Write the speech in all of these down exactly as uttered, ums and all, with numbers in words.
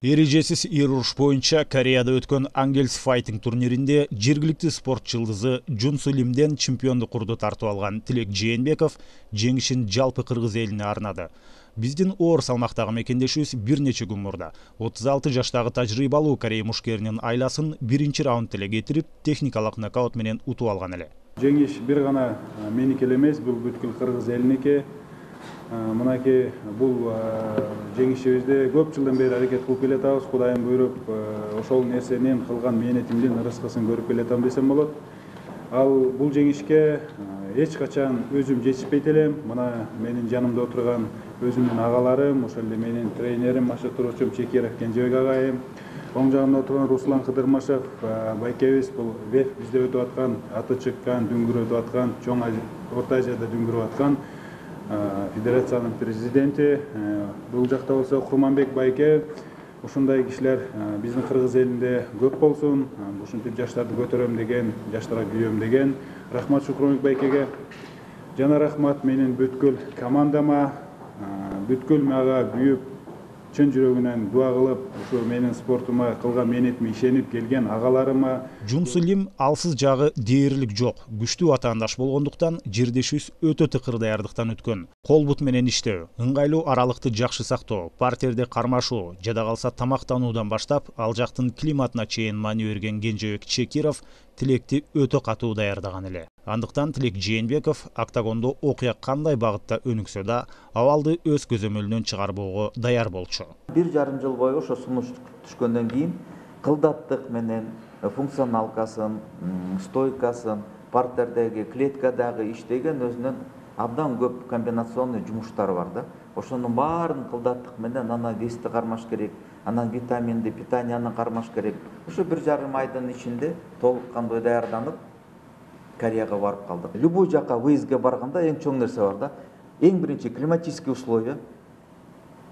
Эрежесиз эр уруш боюнча Кореяда өткөн Angels Fighting турниринде жергиликтүү спорт жылдызы Жун Су Лимден чемпиондук курду тартып алган Тилек Жээнбеков жеңишин жалпы кыргыз элине арнады. Биздин оор салмактагы мекендешибиз бир нече күн мурда отуз алты жаштагы тажрыйбалуу Корея мушкеринин айласын биринчи раунд эле кетирип, техникалык нокаут менен утуп алган эле. Жеңиш бир гана меники эле эмес, бул бүткүл кыргыз элиники. Мынакей бул жеңишибизде көп жылдан бери аракет кылып келатабыз. Кудайым буйруп, ошол нерсенин кылган мээнетимдин ырыскысын көрүп келатам десем болот. Ал бул жеңишке эч качан өзүм жетишпейт элем. Мына менин жанымда отурган өзүмдүн агаларым, ошол эле менин тренерим, машыктыруучум Чекиров Кенжебек агайым, оң жагымда отурган Руслан Кыдырмашев байкебиз, бул бизде өтүп аткан, аты чыккан, дүңгүрөп аткан, чоң Орто Азияда дүңгүрөп аткан федерациянын президенти. Бул жакта болсо Курманбек байке. Ушундай кишилер биздин кыргыз элинде көп болсун. Ушинтип жаштарды көтөрөм деген, жаштарга күйөм деген. Рахмат Шукурбек байкеге. Жана рахмат менин бүткүл командама, бүткүл мага күйүп, чын жүрөгүнөн дуа кылып, ушу менин спортума кылган мээнетиме ишенип келген агаларыма. Жун Су Лим алсыз жагы дээрлик жок, күчтүү атаандаш болгондуктан жердешибиз өтө тыкыр даярдыктан өткөн. Кол бут менен иштөө, ыңгайлуу аралыкты жакшы сактоо, партерде кармашуу, жада калса тамактануудан баштап, ал жактын климатына чейин маани берген Кенжебек Чекиров Тилекти өтө катуу даярдаган эле. Андыктан Тилек Жээнбеков октагондо окуя кандай багытта өнүксө да, абалды өз көзөмөлүнөн чыгарбоого даяр болчу. Бир жарым жыл бою ошо сунуш түшкөндөн кийин кылдаттык менен функционалкасын, стойкасын, партердеги, клеткадагы иштеген өзүнүн абдан көп комбинационный жумуштары бар да. Ошонун баарын кылдаттык менен анан вести кармаш керек, анан витаминди питанияны кармаш керек. Ошо бир жарым айдын ичинде толук кандуу даярданып Кореяга барып калдык. Любой жака выездге барганда эң чоң нерсе бар да. Эң биринчи климатические условия,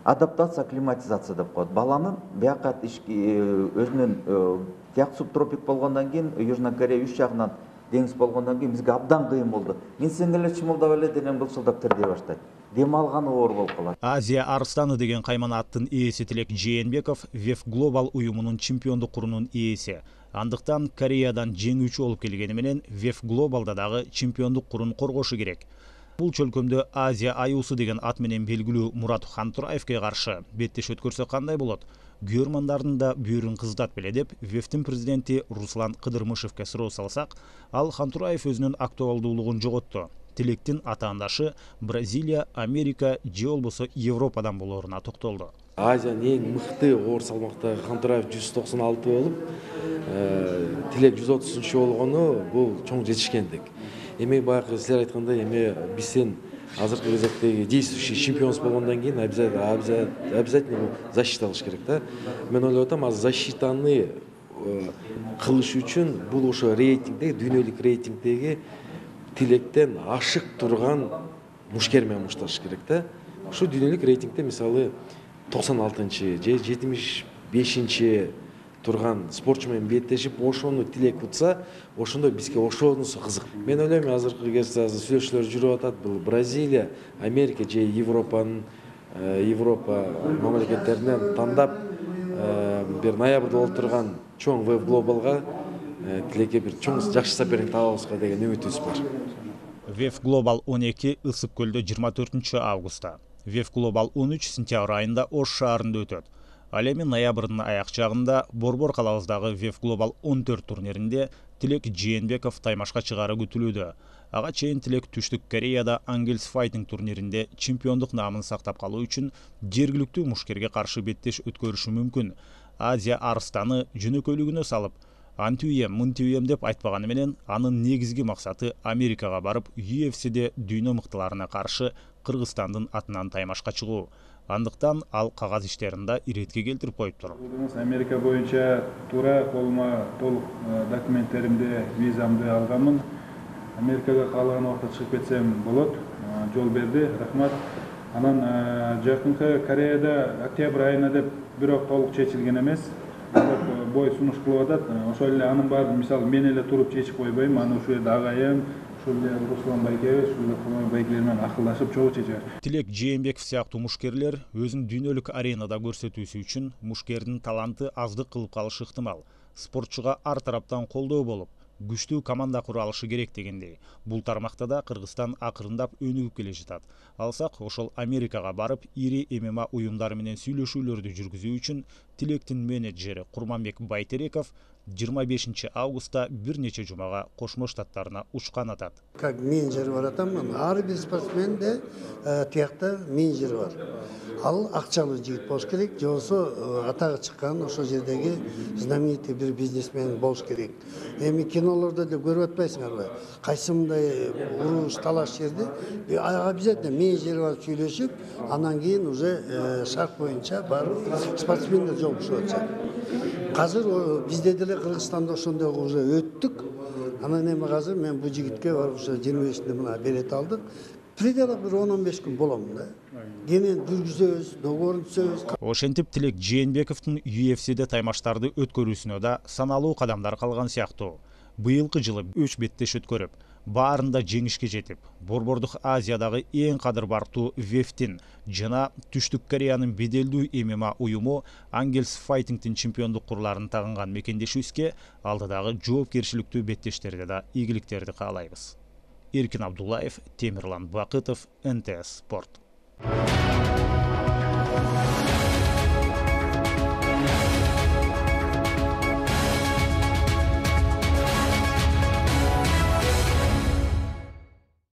адаптация, акклиматизация деп коет. Баланын бияка өзүнүн тияк субтропик болгондон кийин Южный Корея үч жагынан деңиз болгондон кийин бизге абдан кыйын болду. Минсең эле чымылдап эле денем былчылдап тирдей баштайт. Дем алганы оор болуп калат. Азия арстаны деген каймана аттын ээси Тилек Жээнбеков веф Global уюмунун чемпиондук курунун ээси. Андыктан Кореядан жеңүүчү болуп келгени менен веф Globalда дагы чемпиондук курун коргошу керек. Бул чөлкөмдө Азия аюусу деген ат менен белгилүү Мурат Хантураевке каршы беттеш өткөрсө кандай болот? Күйөрмандардын да бүйүрүн кыздат беле деп вефтин президенти Руслан Кыдырмышевке суроо салсак, ал Хантураев өзүнүн актуалдуулугун жоготту. Тилектин атаандашы Бразилия, Америка же болбосо Европадан болоруна токтолду. Азиянын эң мыкты оор салмактагы Хантураев жүз токсон алты болуп, Тилек жүз отузунчу болгону бул чоң жетишкендик. Эми баягы силер айткандай, эми бизден азыркы кезектеги действующий чемпионс болгондон кийин обязательно защита кылыш керек да. Мен ойлоп атам, азыр защитаны кылыш үчүн бул ошо рейтингде, дүйнөлүк рейтингдеги Тилектен ашык турган мушкер менен мушташ керек да. Ушу дүйнөлүк рейтингде мисалы токсон алтынчы же жетимиш бешинчи турган спортчу менен беттешип, ошону Тилек утса, ошондо бизге ошонусу кызык. Мен ойлойм, азыркы кезде азыр сүйлөшүүлөр жүрүп атат, бул Бразилия, Америка же Европанын Европа мамлекеттеринен тандап бир ноябрда болуп турган чоң веф Globalга Тилекке бир чоң жакшы соперник табабызга деген үмүтүбүз бар. веф Global он эки Ысык көлдө жыйырма төртүнчү августта, веф Global он үч сентябрь айында Ош шаарында өтөт. Ал эми ноябрдын аяк жагында Борбор калабыздагы веф Global он төрт турниринде Тилек Жээнбеков таймашка чыгаары күтүлүүдө. Ага чейин Тилек Түштүк Кореяда Angels Fighting турниринде чемпиондук наамын сактап калуу үчүн жергиликтүү мушкерге каршы беттеш өткөрүшү мүмкүн. Азия арстаны жөнөкөйлүгүнө салып, антиуем, мынтиуем деп айтпаганы менен, анын негизги максаты Америкага барып, ю эф сиде дүйнө мыктыларына каршы Кыргызстандын атынан таймашка чыгуу. Андыктан ал кагаз иштеринде иретке келтирип коюптур. Америка боюнча туура колума толук документтеримди, визамды алганмын. Америкага каалаган убакта чыгып кетсем болот. Жол берди, рахмат. Анан жакынкы Кореяда октябрь айына деп бирок толук чечилген эмес. Бой сунуш кылып атат. Ошол эле анын баарын мисалы мен эле туруп чечип койбойм. Аны ушул жерде агайым, ошол эле Руслан байкебиз ушул эле байкелер менен акылдашып чогуу чечебиз. Тилек Жээнбеков сыяктуу мушкерлер өзүн дүйнөлүк аренада көрсөтүүсү үчүн мушкердин таланты аздык кылып калышы ыктымал. Спортчуга ар тараптан колдоо болуп, күчтүү команда кура алышы керек дегендей. Бул тармакта да Кыргызстан акырындап өнүгүп келе жатат. Алсак, ошол Америкага барып, ири эм эм а уюмдары менен сүйлөшүүлөрдү жүргүзүү үчүн Тилектин менеджери Курманбек Байтереков жыйырма бешинчи августта бир нече жумага Кошмо Штаттарына учкан атат. Как менеджер бар атам, ар бир спортсменде тиякта менеджер бар. Ал акчалуу жигит болуш керек, же болбосо атагы чыккан ошол жердеги знаменитый бир бизнесмен болуш керек. Эми кинолордо да көрүп атпайсыңарбы? Кайсы мындай уруш талаш жерде обязательно менеджер барып сүйлөшүп, анан кийин уже шарт боюнча барып спортсмендер жолугушуп атышат. Азыр бизде деле Кыргызстанда ошондой уже өттүк. Анан эми азыр мен бул жигитке барып ушу жыйырма бешинде мына билет алдык. Пределдик бир он он беш күн болом да. Кенен жүргүзөбүз, договорун түзөбүз. Ошентип Тилек Жээнбековдун ю эф сиде таймаштарды өткөрүүсүнө да саналуу кадамдар калган сыяктуу. Быйылкы жылы үч беттеш өткөрүп, баарында жеңишке жетип, Борбордук Азиядагы эң кадырбартуу вэ эф тин жана Түштүк Кореянын беделдүү эм эм а уюму Ангелс Файтингдин чемпиондук курларын тагынган мекендешибизге алдыдагы жоопкерчиликтүү беттештерде да ийгиликтерди каалайбыз. Эркин Абдуллаев, Темирлан Бакытов, эн тэ эс Спорт.